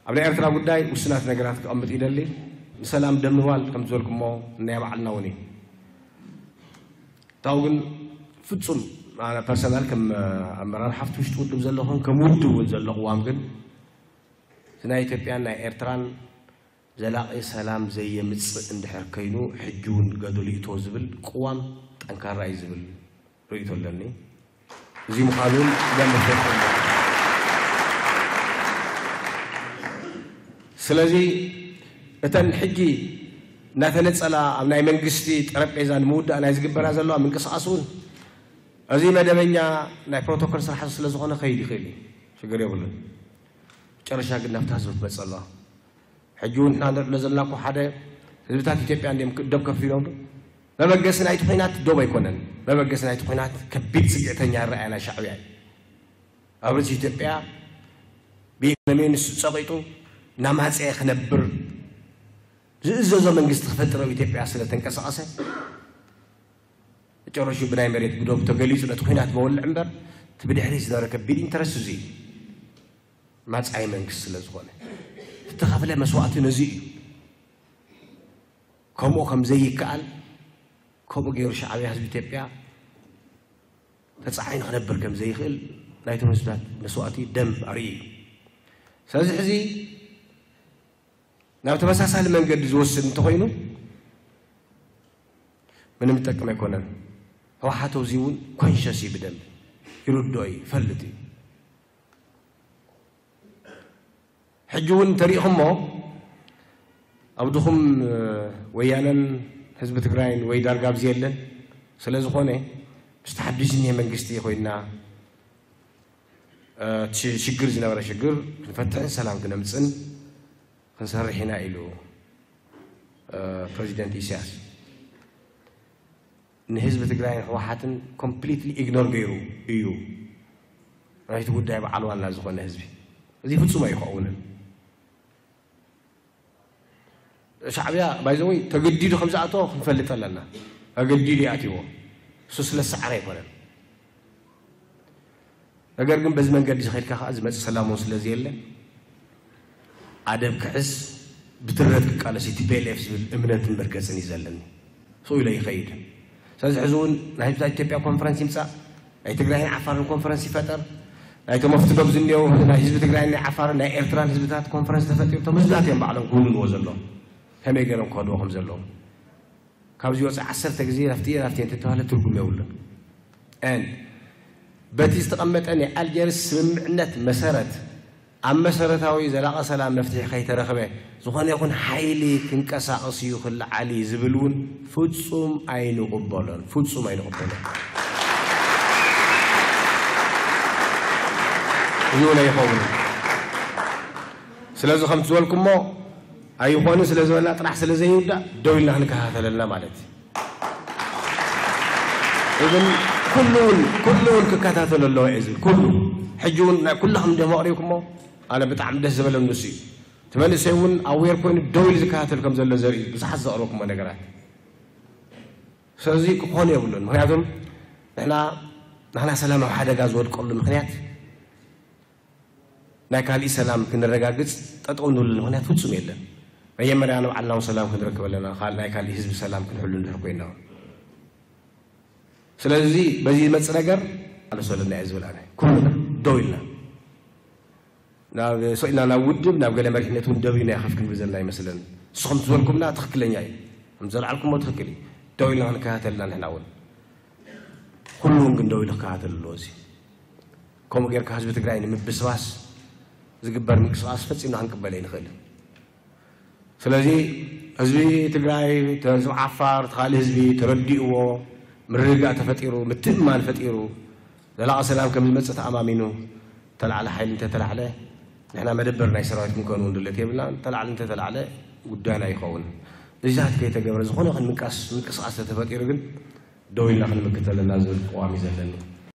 ኣብ ናይ ኤርትራ ጉዳይ ውስናት ነገራት ክቐምጥ ይደሊ። ንሰላም ደምባል ከም ዝበልኩሞ ናይ ባዕልና እውን እዩ። ታው ግን ፍጹም ኣነ ፐርሰናል ከም ኣመራርሓ ኣብቲ ውሽጢ ውድብ ዘለኹን ከም ውድብ እውን ዘሎ ቅዋም ግን እቲ ናይ ኢትዮጵያን ናይ ኤርትራን ዘላቒ ሰላም ዘየምጽእ እንድሕር ኮይኑ ሕጂ እውን ገደሉ ይእቶ ዝብል ቅዋም ጠንካራ እዩ ዝብል ርእይቶ ኣለኒ። እዚ ምዃኑ እውን ደም መፍለጥ ኣለዎ። ስለዚ እተን ሕጂ እናተነጸላ ኣብ ናይ መንግስቲ ጠረጴዛ ንምውዳእ ናይ ዝግበራ ዘለዋ ምንቅስቓስ እውን እዚ መደበኛ ናይ ፕሮቶኮል ስራሕ ስለ ዝኾነ ከይድ ይኽእል እዩ፣ ሽግር የብሉን። መጨረሻ ግን ናብታ ህዝቢ ትመጽእ ኣለዋ። ሕጂ እውን ንሕና ንዕሎ ዘለና እኮ ሓደ ህዝብታት ኢትዮጵያ እንዲም ደብ ከፊሎም ዶ? መበገሲ ናይቲ ኲናት ደብ ኣይኮነን። መበገሲ ናይቲ ኲናት ከቢድ ጽግዕተኛ ኣረኣእያ ናይ ሻዕብያ እዩ። ኣብ ርእሲ ኢትዮጵያ ብኢኮኖሚ ንሱ ጸቒጡ እናማጸየ ክነብር ዝእዘዞ መንግስቲ ክፈጥር ኣብ ኢትዮጵያ ስለ ተንቀሳቐሰ መጨረሹ ብናይ መሬት ብደብ ተገሊጹ ነቲ ኲናት መወልዕ እምበር እቲ ብድሕሪት ዝነበረ ከቢድ ኢንተረስት እዚ እዩ። ማጻኢ መንግስቲ ስለ ዝኾነ ዝተኸፍለ መስዋእቲ ነዚ እዩ። ከምኡ ከም ዘይከኣል ከምኡ ገይሩ ሻዕብያ ህዝቢ ኢትዮጵያ ተጻዒኑ ክነብር ከም ዘይኽእል ናይቶም ህዝብታት መስዋእቲ ደም ኣርእዩ እዩ። ስለዚ ሕዚ ናብ ተመሳሳሊ መንገዲ ዝወስድ እንተኾይኑ ምንም ዝጠቅም ኣይኮነን። ህወሓት ኣብዚ እውን ኮንሸስ እዩ ብደንብ ይርድኦ እዩ ይፈልጥ እዩ። ሕጂ እውን እንተሪኢኹሞ ኣብ ድኹም ወያነን ህዝቢ ትግራይን ወይ ዳርጋ ኣብዚ የለን። ስለ ዝኾነ ምስቲ ሓድሽ ዝኒሀ መንግስቲ ኮይና እቲ ሽግር ዝነበረ ሽግር ክንፈትሕን ሰላም ክነምፅን ክንሰርሕ ኢና ኢሉ ፕረዚደንት ኢሳያስ። ንህዝቢ ትግራይን ህወሓትን ኮምፕሊትሊ ኢግኖር ገይሩ እዩ ናይቲ ጉዳይ በዓል ዋና ዝኾነ ህዝቢ። እዚ ፍጹም ኣይኸውንን። ሻዕብያ ባይዘወይ ተገዲዱ ከም ዝኣተወ ክንፈልጥ ኣለና። ተገዲዱ ይኣትዎ። እሱ ስለ ዝሰዓረ ኣይኮነን። ነገር ግን በዚ መንገዲ ዝኸድካ ከዓ ዝመፅእ ሰላም እውን ስለ ዘየለ ኣደብ ክሕዝ ብትረት ክቃለስ እዩ ቲ ፒ ኤል ኤፍ ዝብል እምነትን መርገፅን እዩ ዘለኒ። ስኡ ኢለ ይኸይድ። ስለዚ ሕዚ እውን ናይ ህዝብታት ኢትዮጵያ ኮንፈረንስ ይምፃእ፣ ናይ ትግራይን ዓፋርን ኮንፈረንስ ይፈጠር፣ ናይቶም ኣብቲ ዶብ ዝኒአው ናይ ህዝቢ ትግራይን ናይ ዓፋርን ናይ ኤርትራን ህዝብታት ኮንፈረንስ ተፈጢሩ እቶም ህዝብታት እዮም ባዕሎም ክውንንዎ ዘለዎም ከመይ ገይሮም ክኸድዎ ከም ዘለዎም። ካብዚ ወፃኢ ዓሰርተ ግዜ ናፍቲ ናፍቲ እንተተባህለ ትርጉም የብሉን። And በቲ ዝተቐመጠ ናይ ኣልጀርስ ስምምዕነት መሰረት ኣብ መሰረታዊ ዘላቒ ሰላም መፍትሒ ከይተረኽበ ዝኾነ ይኹን ሓይሊ ክንቀሳቐስ እዩ ክለዓል እዩ ዝብል እውን ፍጹም ኣይንቕበሎን፣ ፍጹም ኣይንቕበሎን። እዚ እውን ኣይኸውን። ስለዚ ከምቲ ዝበልኩሞ ኣይኾንን ስለ ዝበልና ጥራሕ ስለ ዘይውዳእ ደው ኢልና ክንከታተለልና ማለት እዩ። ግን ኩሉ እውን ኩሉ እውን ክከታተሎ ኣለዎ እየ ዝብል ኩሉ ሕጂ እውን ናይ ኩላኹም እንዲኹም ኣቕሪብኩሞ ኣነ ብጣዕሚ ደስ ዝበለ ንሱ እዩ። እቲ መንእሰይ እውን ኣዌር ኮይኑ ደው ኢሉ ዝከታተል ከም ዘሎ ዘርኢ ብዙሓት ዘቕረብኩሞ ነገራት። ስለዚ ክኾኑ የብሉን። ምክንያቱም ንሕና ንሕና ሰላም ኣብ ሓደጋ ዝወድቀሉ ምክንያት ናይ ካሊእ ሰላም ክንረጋግጽ ጠጠው ንብለሉ ምኽንያት ፍጹም የለን። መጀመርያ ንባዕልና እውን ሰላም ክንረክብ ኣለና፣ ካል- ናይ ካሊእ ህዝቢ ሰላም ክንሕሉ እንድሕር ኮይና። ስለዚ በዚ ዝመጽእ ነገር ኣለሶ ኣለና እየ ዝብል ኣነ። ኩልና ደው ኢልና ናብ ሰው ኢልና ናብ ውድብ ናብ ገለ መሪሕነት እውን ደው ኢልና ከፍ ክንብል ዘለና ይመስለኒ። ንስኹም ዝበልኩምና ትኽክለኛ እዩ። ከም ዘልዓልኩሞ ትኽክል እዩ። ደው ኢልና ክንከታተልና ንሕና እውን ኩሉ እውን ግን ደው ኢሉ ክከታተል ኣለዎ። እዚ ከምኡ ጌርካ ህዝቢ ትግራይ ንምብስባስ ዝግበር ምንቅስቃስ ፈጺምና ክንቅበል ኣይንኽእልን። ስለዚ ህዝቢ ትግራይ፣ ህዝቢ ዓፋር፣ እቲ ካልእ ህዝቢ ተረዲእዎ ምርግጋእ ተፈጢሩ ምትእምማን ፈጢሩ ዘላቒ ሰላም ከም ዝመፅእ ተኣማሚኑ ተላዕለ ሓይሊ እንተተላዕለ ንሕና መደበር ናይ ሰራዊት ክንከውን እውን ድለት የብልናን። ተላዕለ እንተተላዕለ ጉዳይና ይኸውን። እዚታት ከይተገብረ ዝኾነ ይኹን ምንቃስ ምንቅስቃስ ተተፈጢሩ ግን ደው ኢልና ክንምክት ኣለና ዝብል ቅዋም እዩ ዘለኒ።